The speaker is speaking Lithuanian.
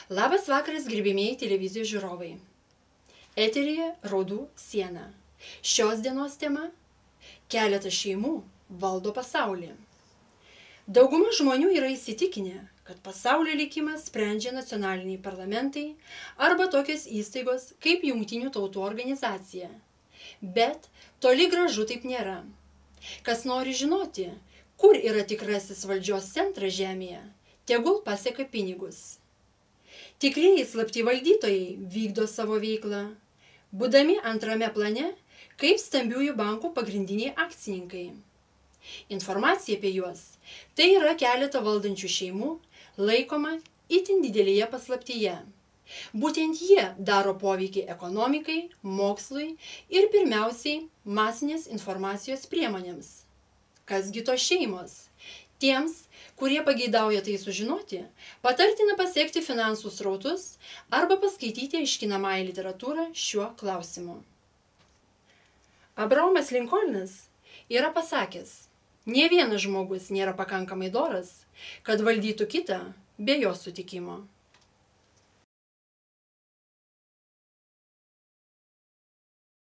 Labas vakaras, gerbimieji televizijos žiūrovai. Eteryje Raudų siena. Šios dienos tema – keletas šeimų valdo pasaulį. Dauguma žmonių yra įsitikinę, kad pasaulio likimą sprendžia nacionaliniai parlamentai arba tokios įstaigos kaip Jungtinių tautų organizacija. Bet toli gražu taip nėra. Kas nori žinoti, kur yra tikrasis valdžios centras žemėje, tegul paseka pinigus. Tikrieji slapti valdytojai vykdo savo veiklą, būdami antrame plane kaip stambiųjų bankų pagrindiniai akcininkai. Informacija apie juos – tai yra keletą valdančių šeimų, laikoma itin didelėje paslaptyje. Būtent jie daro poveikį ekonomikai, mokslui ir pirmiausiai masinės informacijos priemonėms. Kasgi tos šeimos? Tiems, kurie pageidauja tai sužinoti, patartina pasiekti finansų srautus arba paskaityti aiškinamąją literatūrą šiuo klausimu. Abraomas Linkolnas yra pasakęs, nė vienas žmogus nėra pakankamai doras, kad valdytų kitą be jo sutikimo.